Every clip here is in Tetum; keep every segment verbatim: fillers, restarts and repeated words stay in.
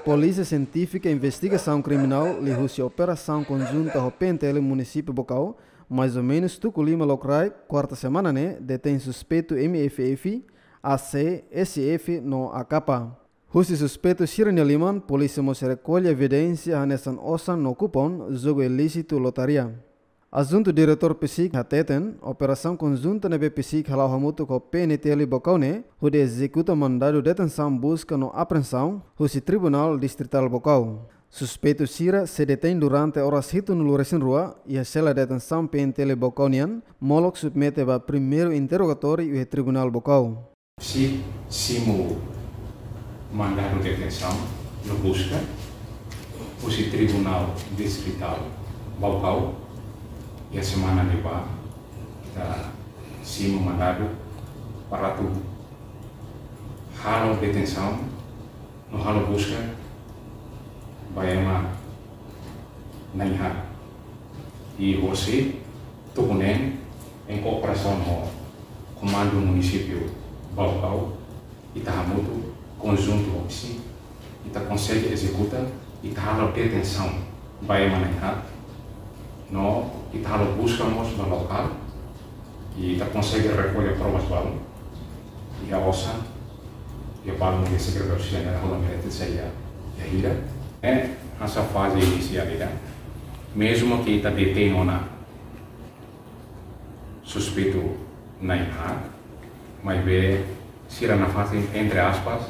Polísia Sientífika Investigasaun Kriminál liuhusi operasaun konjunta ho P N T L Munisípiu Baucau, mais ou menus tuku lima lokraik, kuarta semana ne'e, detein suspeitu M F F, A C, S F no A K. Husi suspeitu sira-nia liman, polísia mós rekolla evidénsia hanesan osan no kupon jogu ilísitu lotaria. Adjuntu Diretór PCIC hateten, operasaun konjunta ne'ebé PCIC hala'o hamutuk ho P N T L Baucau ne'e, hodi ezekuta mandadu detensaun buska no apreensaun husi Tribunál Distritál Baucau. Suspeitu sira sei detein durante oras hitunulu resin rua iha sela detensaun P N T L Baucau nian, molok submete ba primeiru interrogatóriu iha Tribunál Baucau. PCIC simu mandadu detensaun no buska husi Tribunál Distritál Baucau, iha semana ne'ebá, ita simu mandadu para atu halo detensaun no halo buska ba ema na'in-haat. I hosi tuku neen, em cooperação ho Komandu Munisípiu Baucau, ita hamutuk konjuntu ho PCIC, ita konsege ezekuta, ita halo detensaun ba ema na'in-haat, no ita halo buska mós ba lokál, i ita konsege rekolla provas balun, iha osan, iha balun iha Sekretáriu Jerál Holan Meretitsa iha, iha hira. Ne'e hanesan faze inisiál ida, mezmu ke ita detein ona suspeitu na'in-haat, maibé sira nafatin, entre aspas,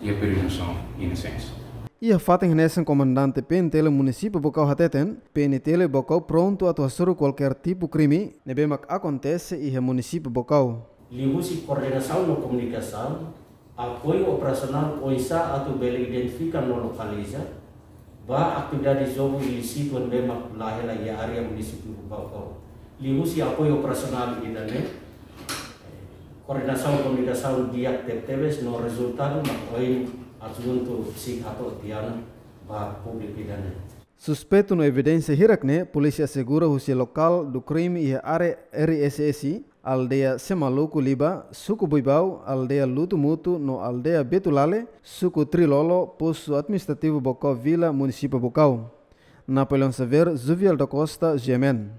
iha prezumpsaun inosénsia. Iha fatin hanesan, Komandante P N T L Munisípiu Baucau hateten, P N T L Baucau prontu atu hasoru kualkér tipu krime ne'ebé mak akontese iha Munisípiu Baucau. Liuhusi koordenasaun no komunikasaun, apoiu operasionál oinsá atu bele identifika no lokaliza ba atividade jogu ilísitu ne'ebé mak la hela iha área Munisípiu Baucau. Liuhusi apoiu operasionál ida-ne'e, koordenasaun komunikasaun di'ak tebetebes no rezultadu mak ohin adjuntu PCIC hato'o tiha ona ba públiku ida-ne'e. Suspeitu no evidénsia hirak-ne'e, polísia asegura husi lokál do crime iha área R S S, aldeia Semaluku Liba, suku Buibau, aldeia Lutu Mutu no aldeia Betulale, suku Trilolo, postu administrativu Baucau Vila, Munisípiu Baucau. Napoleão Xavier, Juvial da Costa, G M N.